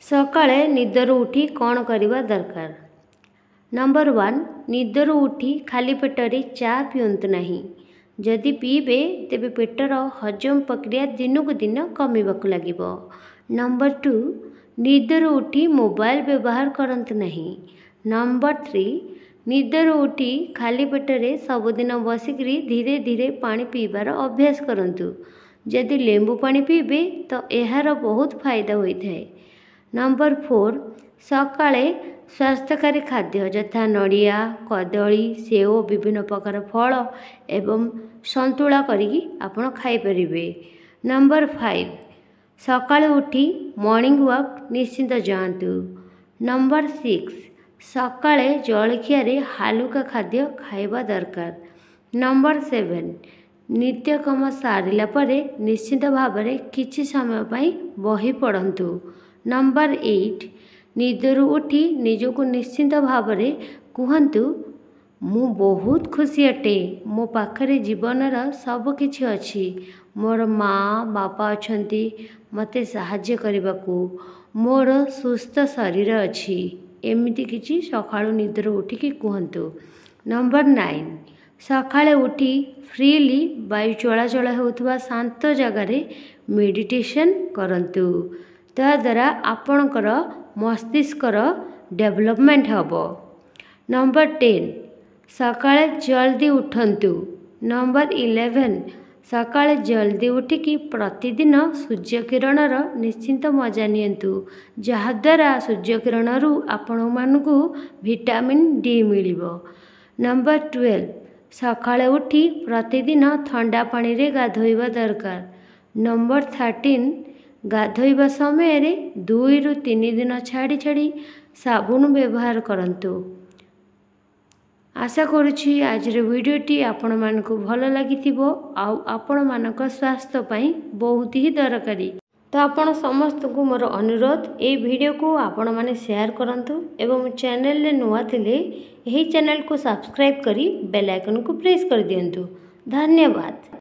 ସକାଳେ ନିଦରୁ ଉଠି କ'ଣ କରିବା ଦରକାର? ନମ୍ବର 1, ନିଦରୁ ଉଠି ଖାଲି ପେଟରେ ଚା ପିଅନ୍ତୁ ନାହିଁ। ଯଦି ପିଇବେ ତେବେ ପେଟର ହଜମ ପ୍ରକ୍ରିୟା ଦିନକୁ ଦିନ କମିବାକୁ ଲାଗିବ। ନମ୍ବର 2, ନିଦରୁ ଉଠି ମୋବାଇଲ ବ୍ୟବହାର କରନ୍ତୁ ନାହିଁ। ନମ୍ବର 3, ନିଦରୁ ଉଠି ଖାଲି ପେଟରେ ସବୁଦିନ ବସିକରି ଧୀରେ ଧୀରେ ପାଣି ପିଇବାର ଅଭ୍ୟାସ କରନ୍ତୁ। ଯଦି ଲେମ୍ବୁ ପାଣି ପିଇବେ ତ ଏହାର ବହୁତ ଫାଇଦା ହୋଇଥାଏ। ନମ୍ବର 4, ସକାଳେ ସ୍ୱାସ୍ଥ୍ୟକାରୀ ଖାଦ୍ୟ ଯଥା ନଡ଼ିଆ, କଦଳୀ, ସେଓ, ବିଭିନ୍ନ ପ୍ରକାର ଫଳ ଏବଂ ସନ୍ତୁଳା କରିକି ଆପଣ ଖାଇପାରିବେ। ନମ୍ବର 5, ସକାଳୁ ଉଠି ମର୍ଣ୍ଣିଂ ୱାକ୍ ନିଶ୍ଚିତ ଯାଆନ୍ତୁ। ନମ୍ବର 6, ସକାଳେ ଜଳଖିଆରେ ହାଲୁକା ଖାଦ୍ୟ ଖାଇବା ଦରକାର। ନମ୍ବର 7, ନିତ୍ୟକର୍ମ ସାରିଲା ପରେ ନିଶ୍ଚିତ ଭାବରେ କିଛି ସମୟ ପାଇଁ ବହି ପଢ଼ନ୍ତୁ। ନମ୍ବର 8, ନିଦରୁ ଉଠି ନିଜକୁ ନିଶ୍ଚିତ ଭାବରେ କୁହନ୍ତୁ, ମୁଁ ବହୁତ ଖୁସି ଅଟେ, ମୋ ପାଖରେ ଜୀବନର ସବୁକିଛି ଅଛି, ମୋର ମା ବାପା ଅଛନ୍ତି ମୋତେ ସାହାଯ୍ୟ କରିବାକୁ, ମୋର ସୁସ୍ଥ ଶରୀର ଅଛି। ଏମିତି କିଛି ସକାଳୁ ନିଦରୁ ଉଠିକି କୁହନ୍ତୁ। ନମ୍ବର 9, ସକାଳେ ଉଠି ଫ୍ରିଲି ବାୟୁ ଚଳାଚଳ ହେଉଥିବା ଶାନ୍ତ ଜାଗାରେ ମେଡ଼ିଟେସନ୍ କରନ୍ତୁ। ତାଦ୍ୱାରା ଆପଣଙ୍କର ମସ୍ତିଷ୍କର ଡେଭଲପମେଣ୍ଟ ହେବ। ନମ୍ବର 10, ସକାଳେ ଜଲ୍ଦି ଉଠନ୍ତୁ। ନମ୍ବର 11, ସକାଳେ ଜଲ୍ଦି ଉଠିକି ପ୍ରତିଦିନ ସୂର୍ଯ୍ୟକିରଣର ନିଶ୍ଚିନ୍ତ ମଜା ନିଅନ୍ତୁ, ଯାହାଦ୍ୱାରା ସୂର୍ଯ୍ୟକିରଣରୁ ଆପଣମାନଙ୍କୁ ଭିଟାମିନ୍ ଡି ମିଳିବ। ନମ୍ବର 12, ସକାଳେ ଉଠି ପ୍ରତିଦିନ ଥଣ୍ଡା ପାଣିରେ ଗାଧୋଇବା ଦରକାର। ନମ୍ବର 13, ଗାଧୋଇବା ସମୟରେ 2ରୁ 3 ଦିନ ଛାଡ଼ି ଛାଡ଼ି ସାବୁନ ବ୍ୟବହାର କରନ୍ତୁ। ଆଶା କରୁଛି ଆଜିର ଭିଡ଼ିଓଟି ଆପଣମାନଙ୍କୁ ଭଲ ଲାଗିଥିବ ଆଉ ଆପଣମାନଙ୍କ ସ୍ୱାସ୍ଥ୍ୟ ପାଇଁ ବହୁତ ହି ଦରକାରୀ। ତ ଆପଣ ସମସ୍ତଙ୍କୁ ମୋର ଅନୁରୋଧ, ଏଇ ଭିଡ଼ିଓକୁ ଆପଣମାନେ ସେୟାର କରନ୍ତୁ ଏବଂ ଚ୍ୟାନେଲରେ ନୂଆ ଥିଲେ ଏହି ଚ୍ୟାନେଲକୁ ସବସ୍କ୍ରାଇବ୍ କରି ବେଲ୍ ଆଇକନ୍କୁ ପ୍ରେସ୍ କରିଦିଅନ୍ତୁ। ଧନ୍ୟବାଦ।